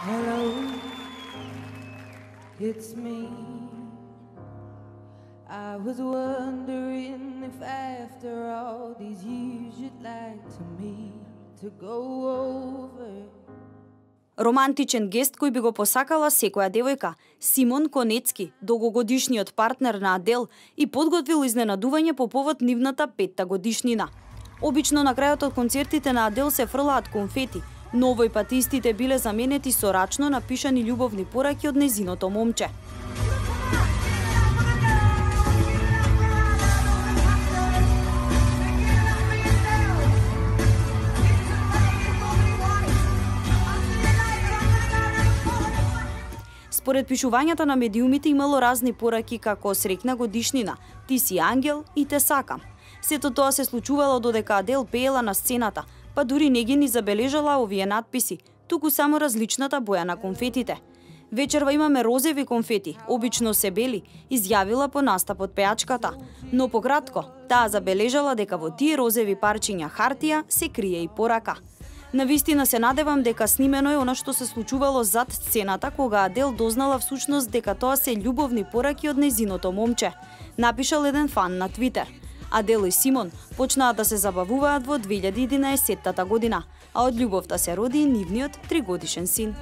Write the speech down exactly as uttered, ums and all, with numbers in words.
Hello, it's me. I was wondering if after all these years you'd like to me to go over. Романтичен гест кој би го посакала секоја девојка, Симон Конецки, долгогодишниот партнер на Адел, и подготвил изненадување по повод нивната петта годишнина. Обично на крајот од концертите на Адел се фрлаат конфети, но овој пат истите биле заменети со рачно напишани љубовни пораки од незиното момче. Според пишувањата на медиумите имало разни пораки како среќна годишнина, ти си ангел и те сакам. Сето тоа се случувало додека Адел пеела на сцената, па дури не ги ни забележала овие надписи, туку само различната боја на конфетите. Вечерва имаме розеви конфети, обично се бели, изјавила по настапот пеачката, но пократко, таа забележала дека во тие розеви парчиња хартија се крие и порака. Навистина се надевам дека снимено е она што се случувало зад сцената кога Адел дознала всушност дека тоа се љубовни пораки од незиното момче, напишал еден фан на Твитер. Адел и Симон почнаа да се забавуваат во две илјади и единаесетта година, а од љубовта се роди нивниот тригодишен син.